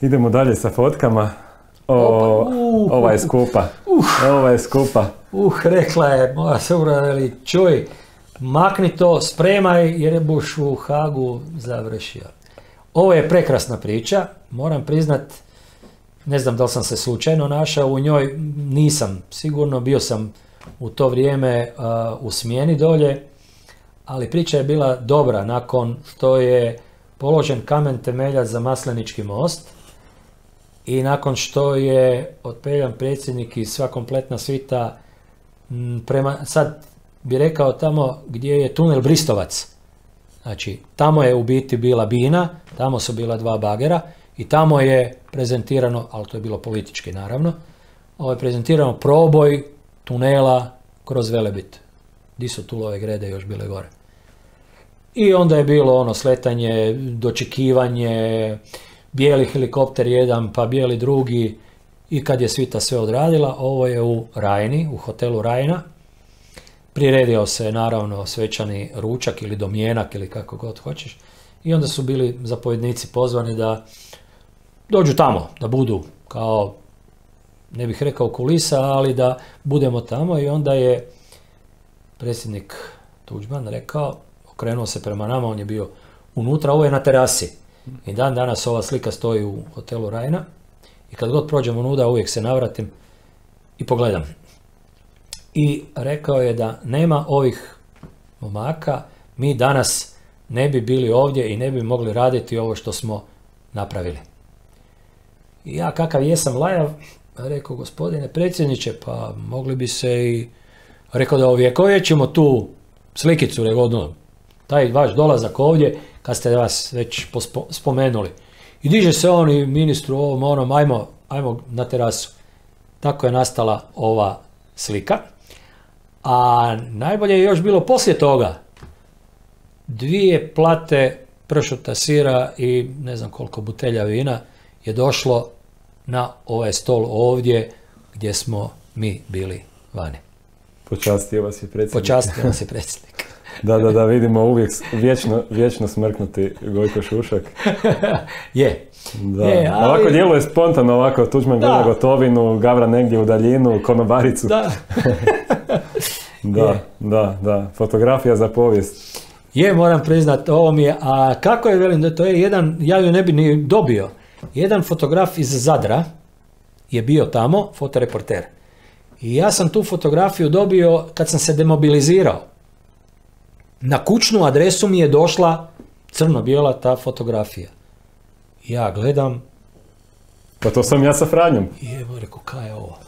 Idemo dalje sa fotkama. Ova je skupa. Ova je skupa. Rekla je moja supruga, veli, čuj, makni to, spremaj jer buš u Hagu završio. Ovo je prekrasna priča, moram priznat, ne znam da li sam se slučajno našao u njoj, nisam sigurno, bio sam u to vrijeme u smjeni dolje, ali priča je bila dobra nakon što je položen kamen temeljac za Maslenički most i nakon što je otpeljan predsjednik i sva kompletna svita prema, sad bi rekao tamo gdje je tunel Bristovac. Znači, tamo je u biti bila bina, tamo su bila dva bagera i tamo je prezentirano, ali to je bilo politički naravno, ovo je prezentirano proboj tunela kroz Velebit. Di su Tulove grede još bile gore. I onda je bilo ono sletanje, dočekivanje, bijeli helikopter jedan, pa bijeli drugi, i kad je svita sve odradila, ovo je u Rajni, u hotelu Rajna. Priredio se naravno svečani ručak ili domjenak ili kako god hoćeš. I onda su bili zapovjednici pozvani da dođu tamo, da budu kao, ne bih rekao kulisa, ali da budemo tamo. I onda je predsjednik Tuđman rekao, okrenuo se prema nama, on je bio unutra, ovo je na terasi. I dan danas ova slika stoji u hotelu Rajna. I kad god prođem unuda, uvijek se navratim i pogledam. I rekao je da nema ovih momaka, mi danas ne bi bili ovdje i ne bi mogli raditi ovo što smo napravili. I ja kakav jesam lajav, rekao, gospodine predsjedniče, pa mogli bi se i, rekao da ovjekovjećemo tu slikicu, rekao, taj vaš dolazak ovdje, kad ste vas već spomenuli. I diže se on i ministru ovom onom, ajmo na terasu. Tako je nastala ova slika. A najbolje je još bilo poslije toga. 2 plate pršuta sira i ne znam koliko butelja vina je došlo na ovaj stol ovdje gdje smo mi bili vani. Počastio vas je predsjednik. Počastio vas je predsjednik. Da, vidimo uvijek vječno smrknuti Gojko Šušak. Je. Da. Ali... Ovako djeluje spontano, ovako Tuđman gleda gotovinu, Gavra negdje u daljinu, konobaricu. Da. Fotografija za povijest. Je, moram priznat, ovo mi je, a kako je, velim, to je jedan, ja ju ne bi ni dobio, jedan fotograf iz Zadra je bio tamo, fotoreporter. I ja sam tu fotografiju dobio kad sam se demobilizirao. Na kućnu adresu mi je došla crno-bijela ta fotografija. Ja gledam. Pa to sam ja sa Franjom. I evo, rekao, kaj je ovo?